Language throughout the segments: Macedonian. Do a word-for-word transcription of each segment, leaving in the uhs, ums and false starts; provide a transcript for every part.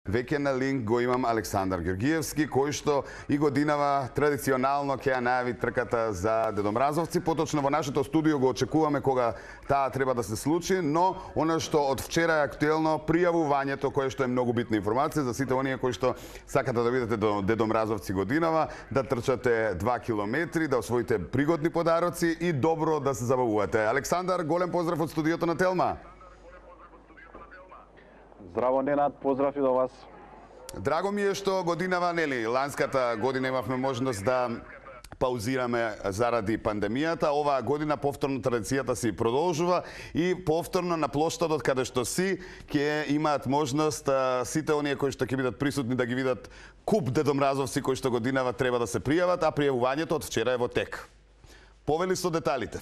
Веќе на линк го имам Александар Георгиевски, кој што и годинава традиционално ќе ја најави трката за Дедомразовци. Поточно во нашето студио го очекуваме кога таа треба да се случи, но она што од вчера е актуелно пријавувањето, кое што е многу битна информација за сите оние кои што сакате да видите до Дедомразовци годинава, да трчате два километри, да освоите пригодни подароци и добро да се забавувате. Александар, голем поздрав од студиото на Телма. Здраво, Ненад, поздрав и до вас. Драго ми е што годинава, нели, ланската година имавме можност да паузираме заради пандемијата. Оваа година повторно традицијата си продолжува и повторно на плоштадот каде што си ќе имаат можност а, сите оние кои што ќе бидат присутни да ги видат куп Дедомразовци кои што годинава треба да се пријават, а пријавувањето од вчера е во тек. Повели со деталите.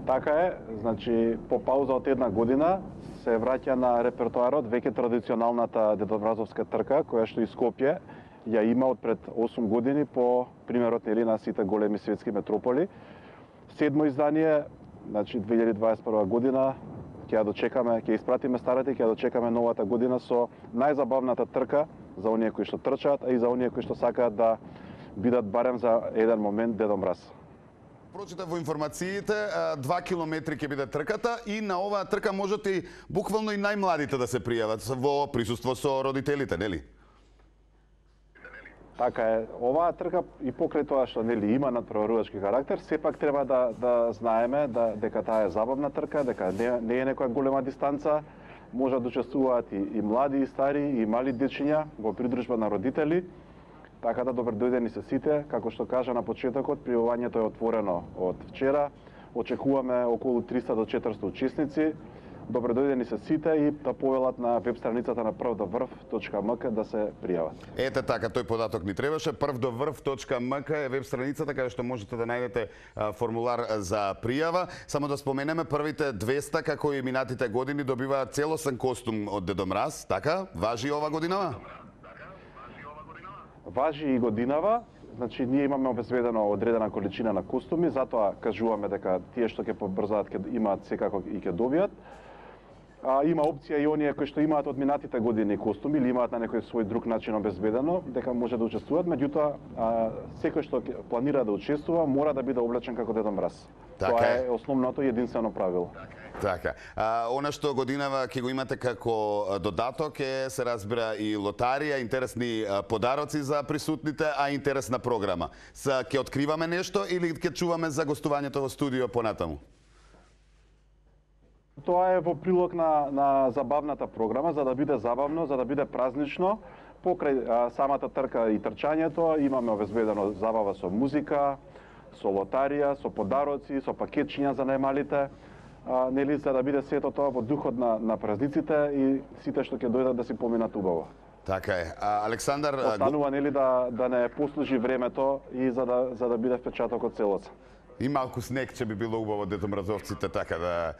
Така е, значи по пауза од една година се враќа на репертоарот веќе традиционалната Дедомразовска трка, која што и Скопје ја има од пред осум години по примерот нели на сите големи светски метрополи. Седмо издание, значи две илјади дваесет и прва година, ќе ја дочекаме, ќе испратиме старата и ќе ја дочекаме новата година со најзабавната трка за оние кои што трчаат, а и за оние кои што сакаат да бидат барем за еден момент Дедомраз. Прочитав во информациите, два километри ќе биде трката и на оваа трка можете и буквално и најмладите да се пријават во присуство со родителите, нели? Така е, оваа трка и покрај тоа што нели има надпреварувачки карактер, сепак треба да да знаеме да дека таа е забавна трка, дека не, не е некоја голема дистанца, може да учествуваат и, и млади и стари и мали дечиња во придружба на родители. Така да добро дојдени се сите, како што кажа на почетокот, пријавувањето е отворено од вчера. Очекуваме околу триста до четиристо учесници. Добро дојдени се сите и да повелат на веб страницата на прв до врв точка ем ка да се пријават. Ете така, тој податок ни требаше. прв до врв точка ем ка е веб страницата каде што можете да најдете формулар за пријава. Само да споменеме, првите двеста, како и минатите години, добиваат целосен костум од Дедомраз, така? Важи ова годинава? Важи и годинава, значи ние имаме обезбедено одредена количина на костуми, затоа кажуваме дека тие што ќе побрзаат ќе имаат секако и ќе добијат. А, има опција и оние кои што имаат од минатите години костуми или имаат на некој свој друг начин обезбедено, дека може да учествуваат, меѓутоа секој што планира да учествува мора да биде облечен како Дедомраз. Така Тоа е е основното и единствено правило. Така. А, она што годинава ќе го имате како додаток е, се разбира, и лотарија, интересни подароци за присутните, а интересна програма. Са ќе откриваме нешто или ќе чуваме за гостувањето во студио понатаму? Тоа е во прилог на, на забавната програма, за да биде забавно, за да биде празнично. Покрај а, самата трка и трчањето имаме обезбедено забава со музика, со лотарија, со подароци, со пакетчиња за најмалите, а, нели, за да биде сето тоа во духот на, на празниците и сите што ќе дојдат да си поминат убаво. Така е. А, Александар... Останува, нели, да, да не послужи времето и за да, за да биде впечатокот целоцен. И малку снег ќе би било убаво Дедомразовците, така да...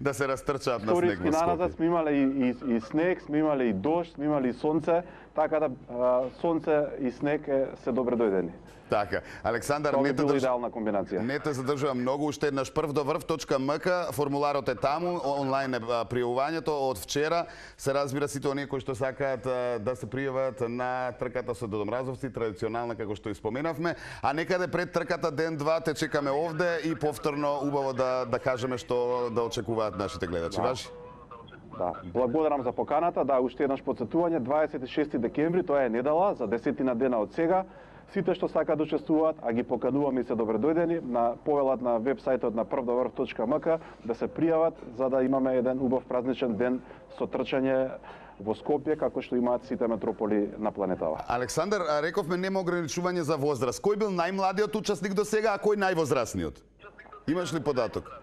да се растрчаат на снег во Скопје. Наназад сме имале и, и, и снег, сме имале и дожд, сме имале и сонце, така да а, сонце и снег е, се добре дојдени. Така. Александар, тоа не би била те идеална комбинација. Не те задржувам многу, уште еднаш прв до врв точка ем ка, формуларот е таму, онлайн е пријавувањето од вчера. Се разбира сите оние кои што сакаат да се пријават на трката со Дедомразовци, традиционална како што и споменавме, а некаде пред трката ден-два те чекаме овде и повторно убаво да да кажеме што да очекуваат нашите гледачи. Да. Важи? Да, благодарам за поканата. Да, уште еднаш потсетување, дваесет и шести декември, тоа е недела, за десетина дена од сега. Сите што сакаат да учествуваат, а ги покануваме и се добре дојдени, на повелат на веб сајтот на прв до врв точка ем ка да се пријават за да имаме еден убав празничен ден со трчање во Скопје, како што имаат сите метрополи на планетава. Александар, рековме нема ограничување за возраст. Кој бил најмладиот учесник до сега, а кој највозрасниот? Имаш ли податок?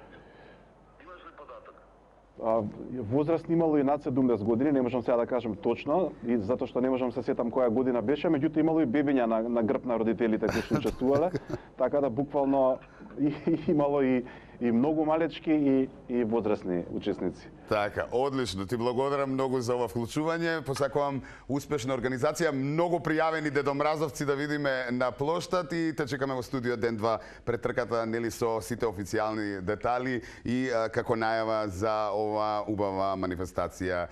Возраст имало и над седумдесет години, не можам сега да кажам точно, и затоа што не можам се сетам која година беше, меѓутоа имало и бебиња на, на грб на родителите кои што учествувале, така да буквално и, имало и, и многу малечки и, и возрастни учесници. Така, одлично. Ти благодарам многу за ова вклучување. Посакувам успешна организација, многу пријавени Дедомразовци да видиме на плоштад и те чекаме во студио ден-два пред трката, нели, со сите официјални детали и а, како најава за ова убава манифестација.